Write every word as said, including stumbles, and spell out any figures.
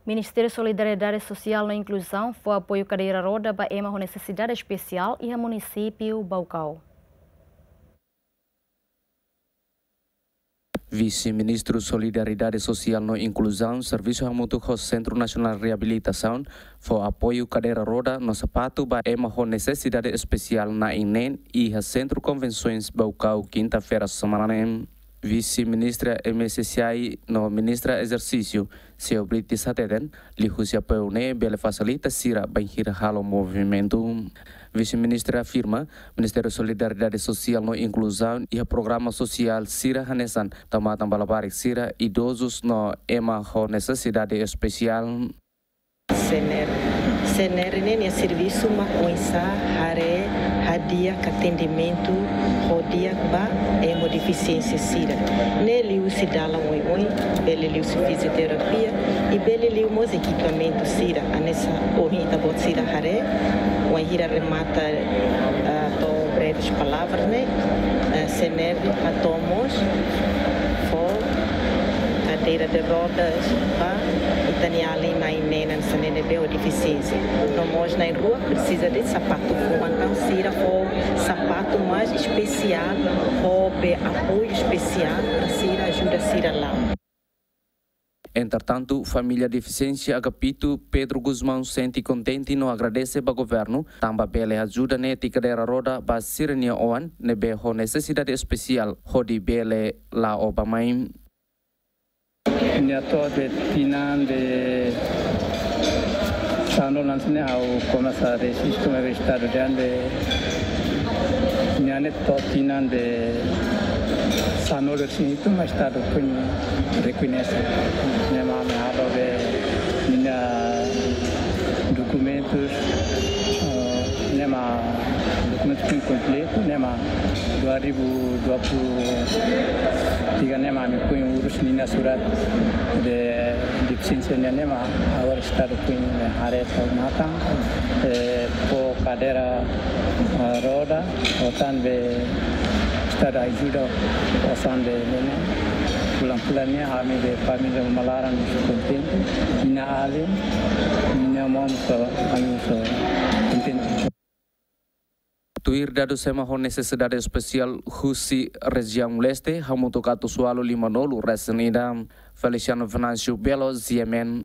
Ministériu Solidariedade Sosiál no Inkluzaun fó apoiu kadeira roda ba ema ho nesesidade espesiál iha munisípiu Baucau. Vise-Ministru Solidariedade Sosiál no Inkluzaun servisu hamutuk ho Sentru Nasionál Reabilitasaun fó apoiu kadeira roda no sapatu ba ema ho nesesidade espesiál na'in neen iha Sentru Konvensoens Baucau, kinta-feira semana ne'e. Vise-Ministra M S S I no Ministra Ezersísiu, Seu Brites hateten, liuhusi apoiu ne'e bele fasilita sira bainhira halo movimentu. Vise-Ministra afirma, Ministériu Solidariedade Sosiál no Inkluzaun iha programa sosiál sira hanesan tau matan ba labarik sira, idozus no ema ho nesesidade espesiál. SENER. SENER ne'e nia servisu mak oinsá haree hadi'a atendimentu ho di'ak ba ema ho defisiénsia sira. Ne'e liuhusi dalan oioin, bele liuhusi fizioterapia, i bele liu mós ekipamentu sira, hanesan ohin ita-boot sira haree, wainhira remata, ah, to'o breves palavras ne'e, ah, SENER hato'o mós fó kadeira de rodas ba ita-nia alin na'in neen hanesan ne'ebé ho defisiénsia. No mós na'in-rua presiza de sapatu fuan, entaun sira fó sapatu mais espesiál, ho be apoiu espesiál para sira ajuda sira la'o. Entretantu, família defisiénsia Agapito, Pedro Gusmão, sente kontente no agradese ba governu tanba bele ajuda netik kadeira roda ba sira-nia oan ne'ebé ho nesesidade espesiál hodi bele la'o bá-mai. Nia to'o tinan de sanulu-resin ne'e ha'u komesa rejistu mai estadu dehan nia ne'e to'o tinan de sanulu-resin-hitu mak estadu foin rekoñese. Ne'e mak ami halo be ninia dokumentus, eh, ne'e mak dokumentus foin kompletu, ne'e mak dua ribu dua puluh tiga ne'e mak ami foin urus ninia surat defisiénsia nian, ne'e mak agora estadu foin haree tau matan, eh, fó kadeira, eh, roda, ho tan be estadu ajuda osan be ne'e. Fulan-fulan ne'e ami be família uma laran kontente, ninia alin, ninia maun sira, ami sira kontente. Tuir dadus ema ho nesesidade espesiál husi rejiaun leste, hamutuk atus ualu lima-nulu resin ida. Feliciano Venâncio Belo, G M N,